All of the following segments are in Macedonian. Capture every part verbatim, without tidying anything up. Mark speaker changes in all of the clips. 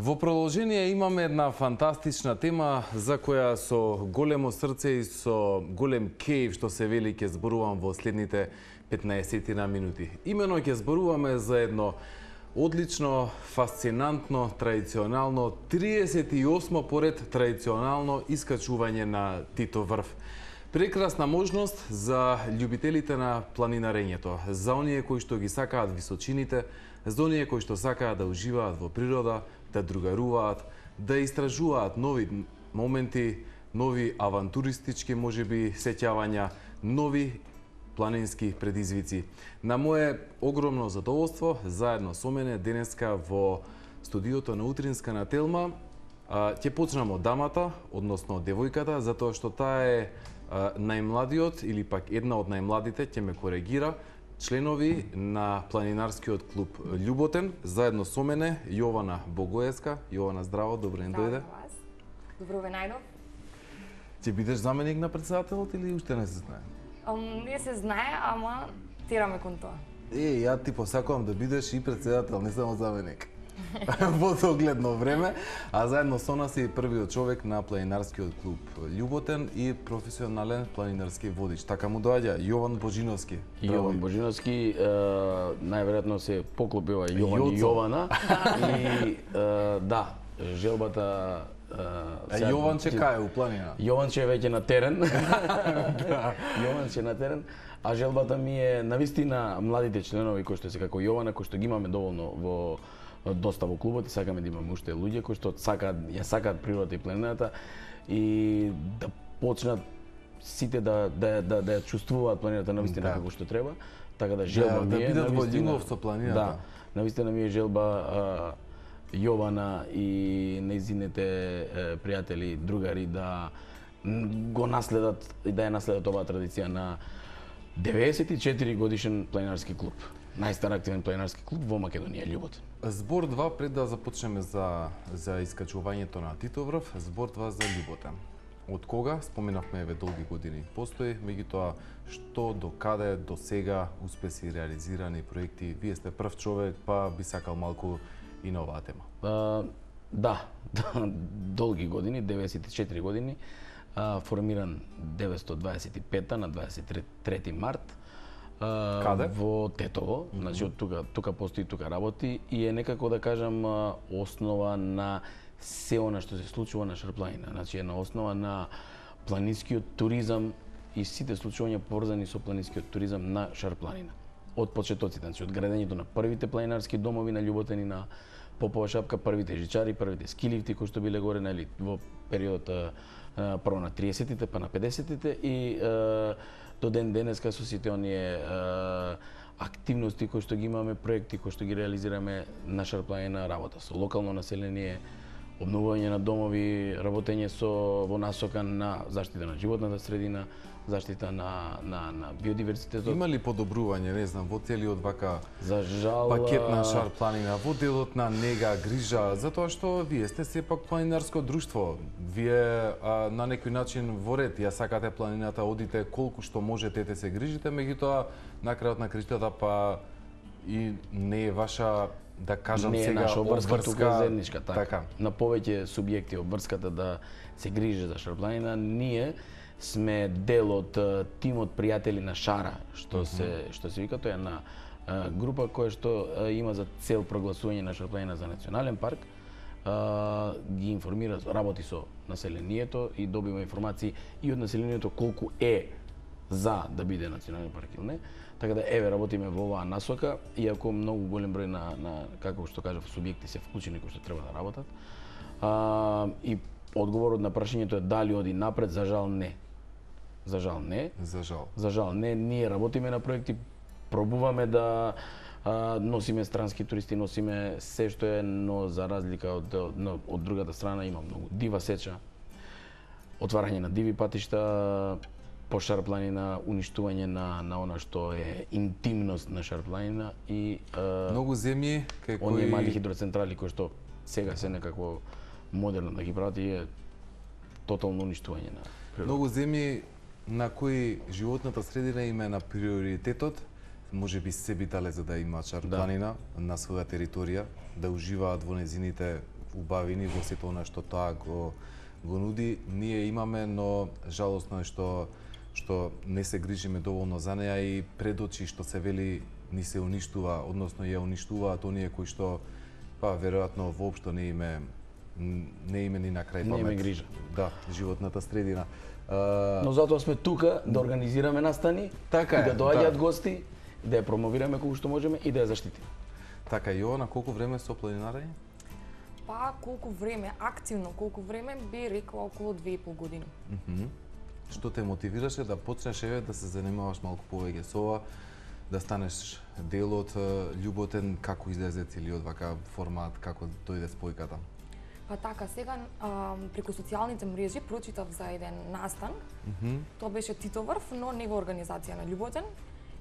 Speaker 1: Во продолжение имаме една фантастична тема за која со големо срце и со голем кејф што се вели ќе зборувам во следните петнаесет минути. Имено ќе зборуваме за едно одлично, фасцинантно, традиционално, триесет и осмо поред традиционално искачување на Титов врв. Прекрасна можност за љубителите на планинарењето, за оние кои што ги сакаат височините, за оние кои што сакаат да уживаат во природа, да другаруваат, да истражуваат нови моменти, нови авантуристички можеби сеќавања, нови планински предизвици. На мое огромно задоволство, заедно со мене денеска во студиото на Утринска на Телма, ќе почнам од дамата, односно од девојката, затоа што таа е најмладиот или пак една од најмладите, ќе ме коригира, членови на планинарскиот клуб Љуботен, заедно со мене Јована Богоевска. Јована, здраво, добро ден дојде.
Speaker 2: Добро ве најдов.
Speaker 1: Ќе бидеш заменик на председателот или уште не се знае?
Speaker 2: Um, не се знае, ама тераме кон тоа.
Speaker 1: Е, ја ти посакувам да бидеш и председател, не само заменик. Во догледно време, а заедно со нас е првиот човек на планинарскиот клуб Љуботен и професионален планинарски водич. Така му доаѓа Јован Божиновски.
Speaker 3: Јован Божиновски, најверојатно се поклопива Јован и Јована. И да, желбата
Speaker 1: А Јован че кај у планина?
Speaker 3: Јован че веќе на терен. Јован че на терен. А желбата ми е навистина младите членови кои што се како Јована, кои што ги имаме доволно во доста во клубот и сакаме да имаме уште луѓе кои што сакаат, ја сакаат природата и планината и да почнат сите да да да да ја чувствуваат планината навистина да. Како што треба. Така да желба
Speaker 1: да,
Speaker 3: ми е
Speaker 1: да бидат во љубов со планината.
Speaker 3: Да, навистина ми е желба а, Јована и нејзините пријатели, другари да го наследат и да ја наследат оваа традиција на деветдесет и четири годишен планинарски клуб. Најстар активен планинарски клуб во Македонија, Љуботен.
Speaker 1: Збор два, пред да започнеме за за искачувањето на Титов врв, збор два за Љуботен. Од кога, споменавме еве долги години постои, меѓутоа што до каде до сега успеси реализирани проекти, вие сте прв човек, па би сакал малку и на оваа тема.
Speaker 3: А, да, долги години, деветдесет и четири години, а, формиран деветстотини дваесет и пета на дваесет и трети март.
Speaker 1: Каде?
Speaker 3: Во Тетово, mm -hmm. значи од тука тука постои, тука работи и е некако да кажам основа на се она што се случува на Шарпланина, значи е на основа на планинскиот туризам и сите случувања поврзани со планинскиот туризам на Шарпланина. Од почетоците, значи од градењето на првите планинарски домови на Љуботен и на Попова шапка, првите жичари, првите скилифти кои што биле горе нели во периодот прво на триесеттите па на педесеттите и е, до ден денеска со сите оние е, активности кои што ги имаме, проекти кои што ги реализираме на Шарпланина, работа со локално население, обновување на домови, работење со во насока на заштита на животната средина, заштита на на на биодиверзитетот.
Speaker 1: Има ли подобрување, не знам, во целиот вака
Speaker 3: За жал
Speaker 1: пакет на Шарпланина, во делот на нега, грижа, затоа што вие сте сепак планинарско друштво. Вие а, на некој начин во ред ја сакате планината, одите колку што можете да се грижите, меѓутоа на крајот на криштата па и не е ваша, да кажам
Speaker 3: не е
Speaker 1: сега,
Speaker 3: наша обврска,
Speaker 1: обврска,
Speaker 3: тука заедничка, така.
Speaker 1: така.
Speaker 3: На повеќе субјекти обврската да се грижи за Шарпланина, ние сме дел од тимот пријатели на Шара, што mm -hmm. се што се вика, тоа е на а, група која што а, има за цел прогласување на Шарпланина за национален парк. А, ги информира, работи со населението и добива информации и од населението колку е за да биде национален парк или не. Така да еве работиме во оваа насока, иако многу голем број на на како што кажав субјекти се вклучени кои што треба да работат. А, и одговорот на прашањето е дали оди напред, за жал не. За жал не.
Speaker 1: За жал.
Speaker 3: За жал не, ние работиме на проекти, пробуваме да а, носиме странски туристи, носиме се што е, но за разлика од од, од другата страна има многу дива сеча, отварање на диви патишта по Шарпланина, уништување на на она што е интимност на Шарпланина и а,
Speaker 1: многу земји кај кои
Speaker 3: оние мали хидроцентрали кои што сега се некакво модерно да ги прати е тотално уништување на природата.
Speaker 1: Многу земји на кои животната средина им е на приоритетот, може би се би дале за да имаат Шарпланина да. на своја територија, да уживаат во незините убавини во сето она што тоа го го нуди, ние имаме, но жалосно е што што не се грижиме доволно за неа и пред очи што се вели ни се уништува, односно ја уништуваат оние кои што па веројатно воопшто не име не име ни на крај памет.
Speaker 3: Не име грижа.
Speaker 1: Да, животната средина. Uh,
Speaker 3: Но затоа сме тука да организираме настани,
Speaker 1: така
Speaker 3: и да
Speaker 1: е,
Speaker 3: доаѓаат
Speaker 1: да.
Speaker 3: гости, да ја промовираме колку што можеме и да ја заштитиме.
Speaker 1: Така, Јована, колку време со планинарење?
Speaker 2: Па колку време, активно колку време би рекла околу две и пол години.
Speaker 1: Mm -hmm. Што те мотивираше да почнеш еве да се занимаваш малку повеќе со ова, да станеш дел од Љуботен, како излезе целиот вака формат, како дојде спојката?
Speaker 2: Па така, сега а, преку социјалните мрежи прочитав за еден настан.
Speaker 1: Mm -hmm.
Speaker 2: Тоа беше Титоврв, но не во организација на Љуботен.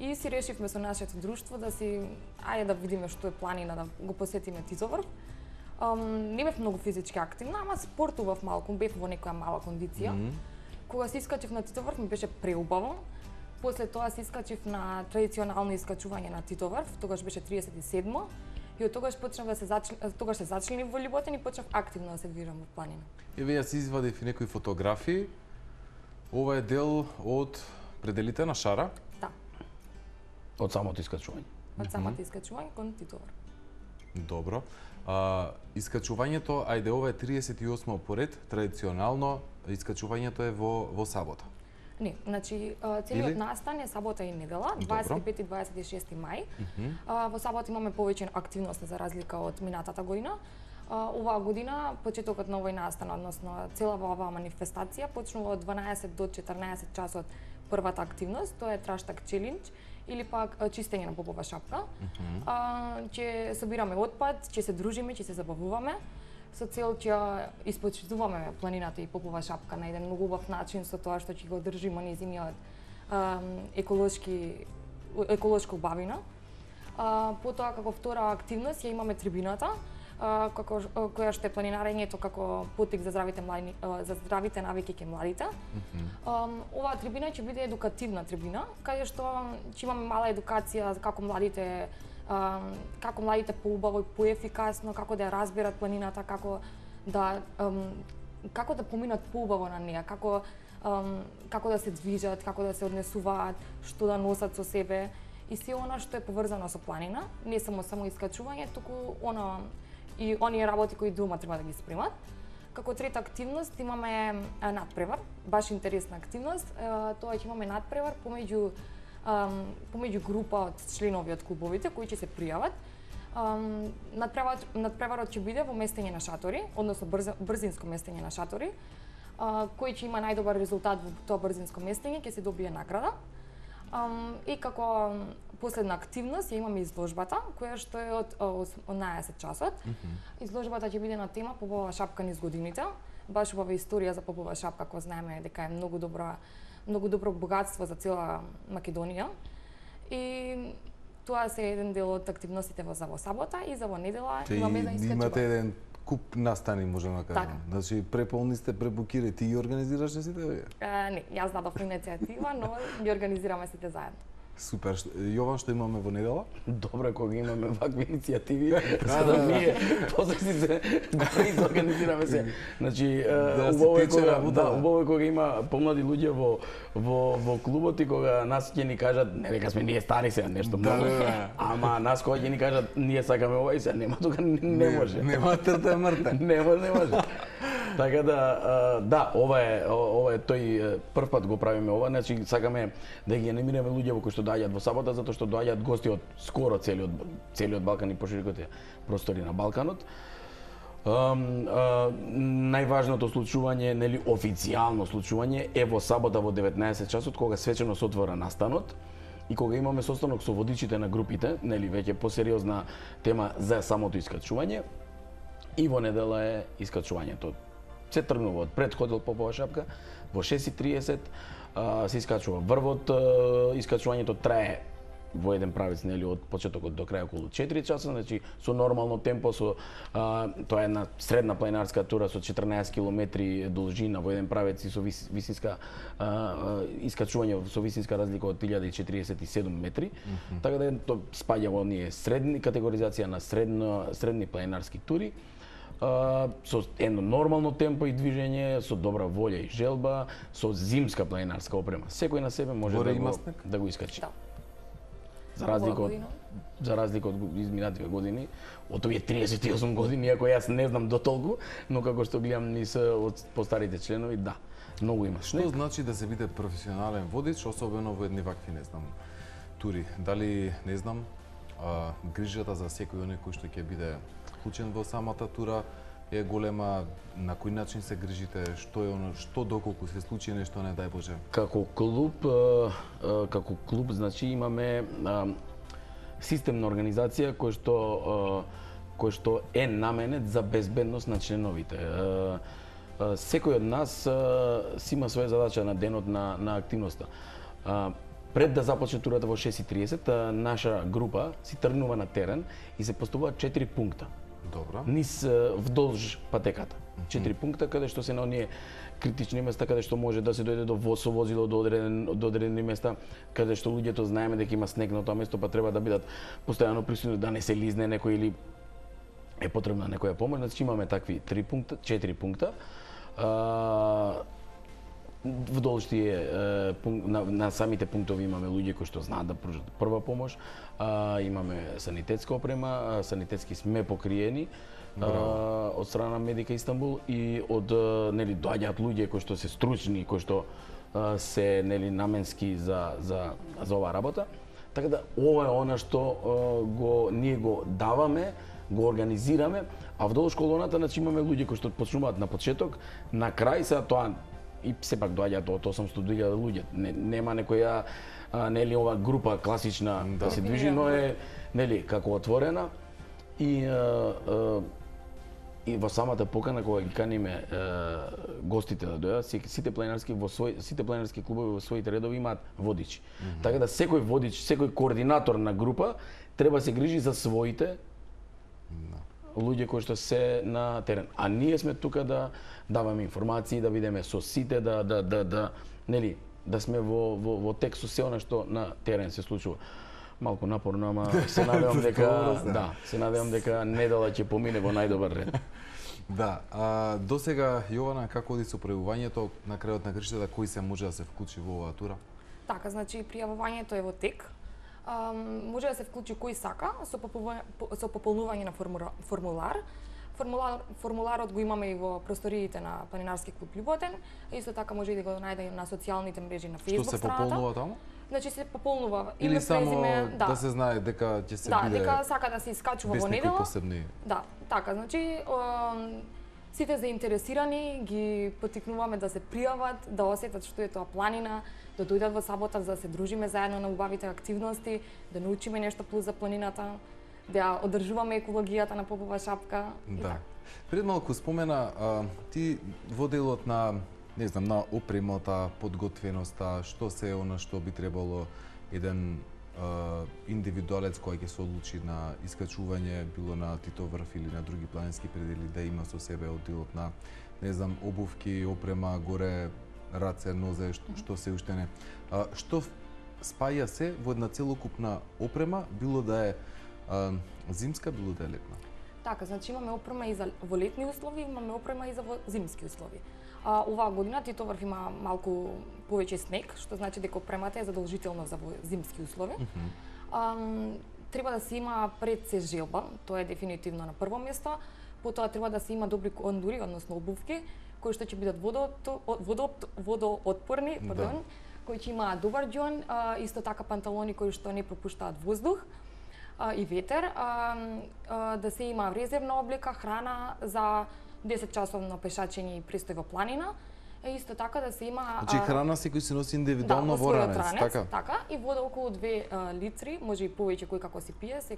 Speaker 2: И си решивме со нашето друштво да си, ајде да видиме што е планина да го посетиме Титоврв. Um, не бев многу физички активна, ама спортував малку, бев во некоја мала кондиција. Mm -hmm. Кога се искачив на Титоврв ми беше преубаво. После тоа се искачив на традиционално искачување на Титоврв, тогаш беше триесет и седмо. И од тогаш почнав да се зачл... тогаш се зачленив во Љуботен и почнав активно да се движам во планина.
Speaker 1: Еве јас извадив и некои фотографии. Ова е дел од пределите на Шара.
Speaker 2: Да.
Speaker 3: Од самото искачување.
Speaker 2: Од самото искачување кон Титоврв.
Speaker 1: Добро. А, искачувањето, ајде, ова е триесет и осмо поред, традиционално искачувањето е во во сабота.
Speaker 2: Не, значи целиот настан е сабота и недела, дваесет и пети и дваесет и шести мај. Mm -hmm. а, во сабота имаме повеќе активности за разлика од минатата година. А, оваа година почетокот на овој настан, односно целава оваа манифестација почнува од дванаесет до четрнаесет часот првата активност, тоа е Траштак челендж или пак чистење на попова шапка. Mm -hmm. а, ќе собираме отпад, ќе се дружиме, ќе се забавуваме со цел ќе испочитуваме планината и попова шапка на еден многу убав начин со тоа што ќе го држиме незиниот еколошки еколошка убавина. А, потоа како втора активност ја имаме трибината, а, како која што е планинарењето како потик за здравите млади, за здравите навики кај младите. Mm -hmm. а, оваа трибина ќе биде едукативна трибина, каде што ќе имаме мала едукација како младите Uh, како младите поубаво и поефикасно, како да ја разберат планината, како да um, како да поминат поубаво на неа, како um, како да се движат, како да се однесуваат, што да носат со себе и се она што е поврзано со планина, не само само искачување, туку она и оние работи кои дома треба да ги спремат. Како трета активност имаме а, надпревар, баш интересна активност. А, тоа ќе имаме надпревар помеѓу Um, помеѓу група од членови од клубовите кои ќе се пријават. Um, надпреварот, надпреварот ќе биде во местење на шатори, односно брз, брзинско местење на шатори. Uh, кој ќе има најдобар резултат во тоа брзинско местење ќе се добие награда. Um, и како последна активност ја имаме изложбата, која што е од осемнаесет часот. Mm -hmm. Изложбата ќе биде на тема попова шапка низ годините. Баш убава историја за попова шапка, која знаеме дека е многу добра многу добро богатство за цела Македонија. И тоа се еден дел од активностите во за во сабота и за во недела имаме за искачување.
Speaker 1: Имате еден куп настани, можеме да кажеме.
Speaker 2: Така.
Speaker 1: Значи преполни сте, пребукирани, ти ги организираш сите вие?
Speaker 2: Не, јас дадов иницијатива, но ги организираме сите заедно.
Speaker 1: Супер. Јован, што имаме во недела?
Speaker 3: Добро кога имаме вакви иницијативи, за да ние после си се го организираме се. Значи, убаво е кога, да, убаво е кога има помлади луѓе во во во клубот и кога нас ќе ни кажат, не дека сме ние стари се, нешто
Speaker 1: да,
Speaker 3: многу.
Speaker 1: Да.
Speaker 3: Ама нас кога ќе ни кажат ние сакаме ова и се, нема тука не, не може.
Speaker 1: Нема трта мрта.
Speaker 3: Не може, не може. Така да, да, ова е ова е тој прв пат го правиме ова, значи сакаме да ги анимираме луѓе во кои што доаѓаат во сабота затоа што доаѓаат гости од скоро целиот целиот Балкан и пошироките простори на Балканот. Um, uh, најважното случување, нели официјално случување е во сабота во деветнаесет часот кога свечено се отвора настанот и кога имаме состанок со водичите на групите, нели веќе посериозна тема за самото искачување. И во недела е искачувањето. Се тргнува од пред хотел попова шапка во шест и триесет uh, се искачува врвот, uh, искачувањето трае во еден правец, нели, од почетокот до крај околу четири часа, значи со нормално темпо, со а, тоа е една средна планинарска тура со четрнаесет километри должина во еден правец и со вис, висинска а, а, искачување со висинска разлика од илјада и четириесет и седум метри. Mm -hmm. Така да тоа спаѓа во оние средни категоризација на средно средни планинарски тури. а, со едно нормално темпо и движење, со добра волја и желба, со зимска планинарска опрема. Секој на себе може
Speaker 1: Горе
Speaker 3: да
Speaker 1: има
Speaker 3: го,
Speaker 1: снег?
Speaker 3: да го искачи.
Speaker 2: Да.
Speaker 3: За разлика од за разлика од изминативе години, од овие триесет и осум години, иако јас не знам до толку, но како што гледам низ од постарите членови, да, многу има
Speaker 1: Што
Speaker 3: снег.
Speaker 1: значи да се биде професионален водич, особено во едни вакви, не знам, тури? Дали, не знам, а, грижата за секој оној кој што ќе биде вклучен во самата тура е голема, на кој начин се грижите, што е оно, што доколку се случи нешто, не дај Боже?
Speaker 3: Како клуб, а, а, како клуб, значи имаме а, системна организација кој што а, кој што е наменет за безбедност на членовите. А, а, секој од нас а, си има своја задача на денот на на активноста. А, Пред да започне турата во шест и триесет, а, наша група си тргнува на терен и се поставуваат четири пункта.
Speaker 1: Добро.
Speaker 3: Низ а, вдолж патеката. Четири пункта каде што се на оние критични места каде што може да се дојде до воз со возило до одреден до одредени места каде што луѓето знаеме дека има снег на тоа место, па треба да бидат постојано присутни да не се лизне некој или е потребна некоја помош. Значи имаме такви три пункта, четири пункта. А, вдолж тие на, на самите пунктови имаме луѓе кои што знаат да пружат прва помош. А, имаме санитетска опрема, а, санитетски сме покриени. Uh, од страна на Медика Истанбул и од нели доаѓаат луѓе кои што се стручни, кои што uh, се нели наменски за за за оваа работа. Така да ова е она што uh, го ние го даваме, го организираме, а вдолу школоната значи имаме луѓе кои што почнуваат на почеток, на крај се тоа и сепак доаѓаат од осумстотини илјади луѓе. Не, нема некоја uh, нели ова група класична да, да се движи, но е нели како отворена и uh, uh, и во самата покана кога ги каниме е, гостите да дојдат, сите планинарски во свој сите планинарски клубови во своите редови имаат водичи. Mm -hmm. Така да секој водич, секој координатор на група треба се грижи за своите no. луѓе кои што се на терен. А ние сме тука да даваме информации, да видиме со сите, да да да да нели да сме во во во текст со се она што на терен се случува. Малку напорно, ама се надевам дека да, се надевам дека недела ќе помине во најдобар ред.
Speaker 1: Да, а до сега Јована како оди со пријавувањето на крајот на крштата, кој се може да се вклучи во оваа тура?
Speaker 2: Така, значи пријавувањето е во тек. А, може да се вклучи кој сака со пополнување, со пополнување на формула, формулар. Формулар, формуларот го имаме и во просториите на Планинарски клуб Љуботен. Исто така може и да го најде на социјалните мрежи на Facebook
Speaker 1: страната. Што се
Speaker 2: страната.
Speaker 1: пополнува таму?
Speaker 2: Значи се пополнува
Speaker 1: име,
Speaker 2: име,
Speaker 1: само
Speaker 2: презиме, да.
Speaker 1: да се знае дека ќе се
Speaker 2: да,
Speaker 1: биде
Speaker 2: дека сака да се искачува во недела.
Speaker 1: Посебни.
Speaker 2: Да, така, значи е, сите заинтересирани ги поттикнуваме да се пријават, да осетат што е тоа планина, да дојдат во сабота за да се дружиме заедно на убавите активности, да научиме нешто плюс за планината, да одржуваме екологијата на Попова шапка.
Speaker 1: Да. Пред малку спомена а, ти во делот на не знам, на опремата, подготвеноста, што се е она што би требало еден а, индивидуалец кој ќе се одлучи на искачување, било на Титов врв или на други планински предели, да има со себе од делот на, не знам, обувки, опрема, горе, раце, нозе, што, што се уште не. А, што спаја се во една целокупна опрема, било да е а, зимска, било да е летна?
Speaker 2: Така, значи имаме опрема и за во летни услови, имаме опрема и за во зимски услови. А, оваа година Титов врв има малку повеќе снег, што значи дека опремата е задолжителна за во зимски услови. Mm -hmm. а, треба да се има пред се желба, тоа е дефинитивно на прво место. Потоа треба да се има добри кондури, односно обувки, кои што ќе бидат водоот, водоотпорни,
Speaker 1: да.
Speaker 2: пардон, кои ќе имаат добар ѓон, а, исто така панталони кои што не пропуштаат воздух а, и ветер, а, а, да се има резервна облека, храна за десет часовно пешачење и престој во планина. Е исто така да се има
Speaker 1: Значи храна секој се носи индивидуално
Speaker 2: да,
Speaker 1: во ранец,
Speaker 2: ранец,
Speaker 1: така?
Speaker 2: Така, и вода околу две а, литри, може и повеќе кој како си пие, се,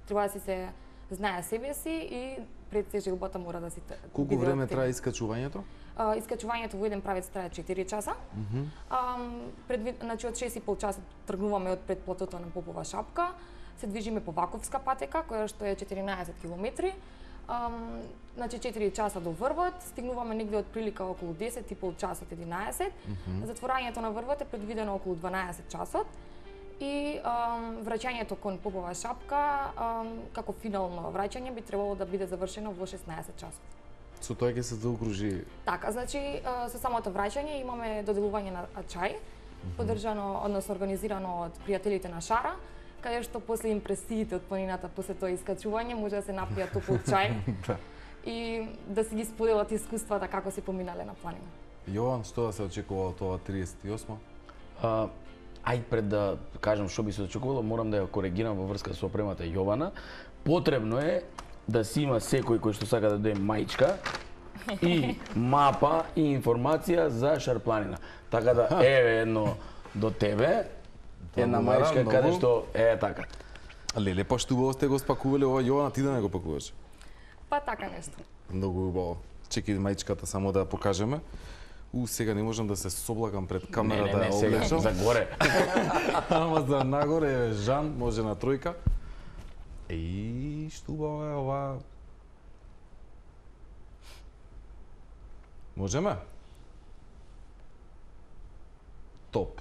Speaker 2: треба да си се знае себе си и пред се желбата мора да си
Speaker 1: Колку време трае искачувањето?
Speaker 2: А, искачувањето во еден правец трае четири часа. Mm -hmm. а, предвид, значи од шест и пол часа тргнуваме од пред платото на Попова шапка, се движиме по Ваковска патека, која што е четиринаесет километри. Um, значи четири часа до врвот, стигнуваме негде од прилика околу десет и пол часот, единаесет. Mm -hmm. Затворањето на врвот е предвидено околу дванаесет часот и ам, враќањето кон Попова шапка ам, како финално враќање би требало да биде завршено во шеснаесет часот.
Speaker 1: Со тоа ќе се заокружи.
Speaker 2: Така, значи со самото враќање имаме доделување на чај, поддржано, односно организирано од пријателите на Шара, каде што после импресиите од планината после тоа искачување може да се напијат топол чај и да си ги споделат искуствата како се поминале на планина.
Speaker 1: Јован, што да се очекува од ова триесет и осма?
Speaker 3: А, ај пред да кажам што би се очекувало, морам да ја коригирам во врска со опремата Јована. Потребно е да си има секој кој што сака да дојде маичка и мапа и информација за Шарпланина. Така да еве едно до тебе, една маичка каде што е така.
Speaker 1: Леле, па што убаво сте го спакувале ова, Јована, ти да не го пакуваш?
Speaker 2: Па така нешто.
Speaker 1: Многу убаво. Чекај маичката само да ја покажеме. У, сега не можам да се соблакам пред камера
Speaker 3: не, не,
Speaker 1: да ја
Speaker 3: не,
Speaker 1: облечам.
Speaker 3: За горе.
Speaker 1: Ама за нагоре е Жан, може на тројка. Еј, што убаво е ова. Можеме? Топ.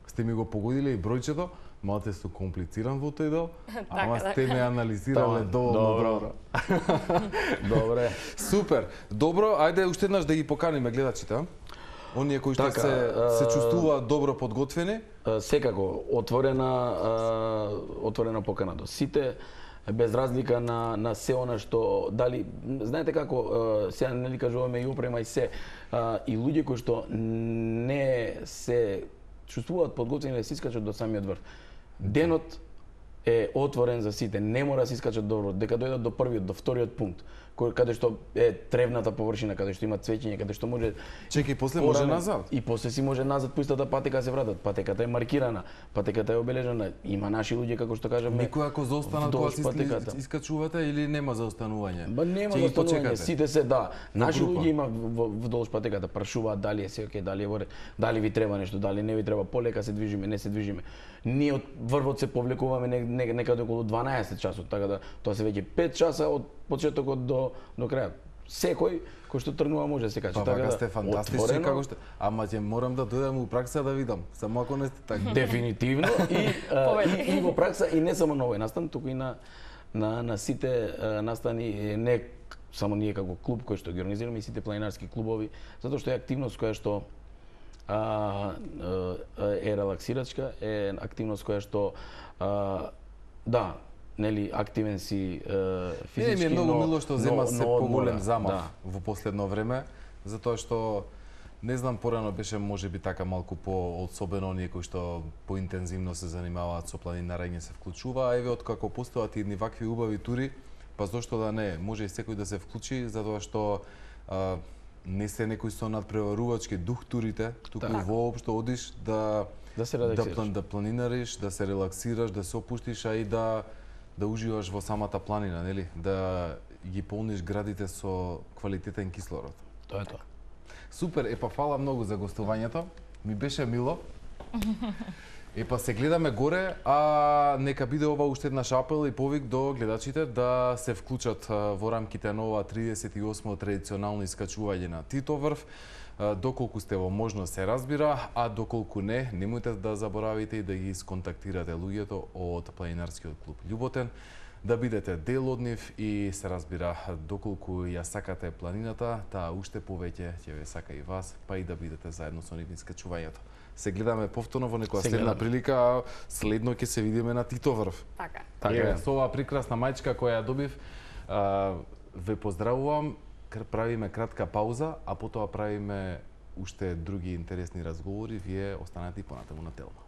Speaker 1: Сте ми го погодиле и бројчето, малце су комплициран во тој дел, ама сте ме анализирале доволно добро.
Speaker 3: Добре.
Speaker 1: Супер. Добро, ајде уште еднаш да ги поканиме гледачите, а? Оние кои што
Speaker 3: Така,
Speaker 1: се се чувствуваат добро подготвени.
Speaker 3: Секако отворена отворена покана до сите, без разлика на на се она што дали знаете како сега нели кажуваме и опрема и се и луѓе кои што не се чувствуваат подготвени да се искачат до самиот врв. Денот е отворен за сите, не мора да се искачат до врв, дека дојдат до првиот, до вториот пункт, кој каде што е тревната површина, каде што има цвеќење, каде што може.
Speaker 1: Чекај, после може назад.
Speaker 3: И после си може назад по истата патека се вратат. Патеката е маркирана, патеката е обележана. Има наши луѓе како што кажаме.
Speaker 1: Некој ако заостанат кога се искачувате или нема заостанување?
Speaker 3: Ба нема заостанување, сите се да. Наши луѓе има вдолж патеката, прашуваат дали е се окей, дали е во ред, дали ви треба нешто, дали не ви треба, полека се движиме, не се движиме. Ние од врвот се повлекуваме некаде околу дванаесет часот, така да тоа се веќе пет часа од почетокот до до крајот. Секој кој што тргнува може да се качи.
Speaker 1: Па, така сте фантастични како што. Ама ќе морам да дојдам у пракса да видам, само ако не сте така.
Speaker 3: Дефинитивно и, а, и, и во пракса и не само на овој настан, туку и на на на сите а, настани, не само ние како клуб кој што ги организираме и сите планинарски клубови, затоа што е активност која што а, е релаксирачка, е активност која што а, да, нели активен си е, физички,
Speaker 1: не, ми е многу
Speaker 3: но,
Speaker 1: мило што зема
Speaker 3: но,
Speaker 1: се
Speaker 3: но
Speaker 1: поголем замав
Speaker 3: да.
Speaker 1: во последно време, затоа што не знам, порано беше можеби така малку по особено оние кои што поинтензивно се занимаваат со планинарење се вклучува, а еве откако постојат едни вакви убави тури, па зошто да не, може и секој да се вклучи затоа што а, не се некој со надпреварувачки дух турите, туку
Speaker 3: так.
Speaker 1: воопшто одиш да
Speaker 3: да се
Speaker 1: да, план, да планинариш, да се релаксираш, да се опуштиш, а и да да уживаш во самата планина, нели? Да ги полниш градите со квалитетен кислород.
Speaker 3: Тоа е тоа.
Speaker 1: Супер, епа фала многу за гостувањето. Ми беше мило. Епа се гледаме горе, а нека биде ова уште еднаш апел и повик до гледачите да се вклучат во рамките на ова тридесет и осмо традиционално искачување на Тито врв. Доколку сте во можност се разбира, а доколку не, немојте да заборавите и да ги сконтактирате луѓето од планинарскиот клуб Љуботен, да бидете дел од нив и се разбира, доколку ја сакате планината, таа уште повеќе ќе ве сака и вас, па и да бидете заедно со нив искачувањето. Се гледаме повторно во некоја следна прилика, а следно ќе се видиме на Тито врв.
Speaker 2: Така.
Speaker 1: Така, со оваа прекрасна маичка која ја добив, ве поздравувам. Правиме кратка пауза, а потоа правиме уште други интересни разговори. Вие останете и понатаму на Телма.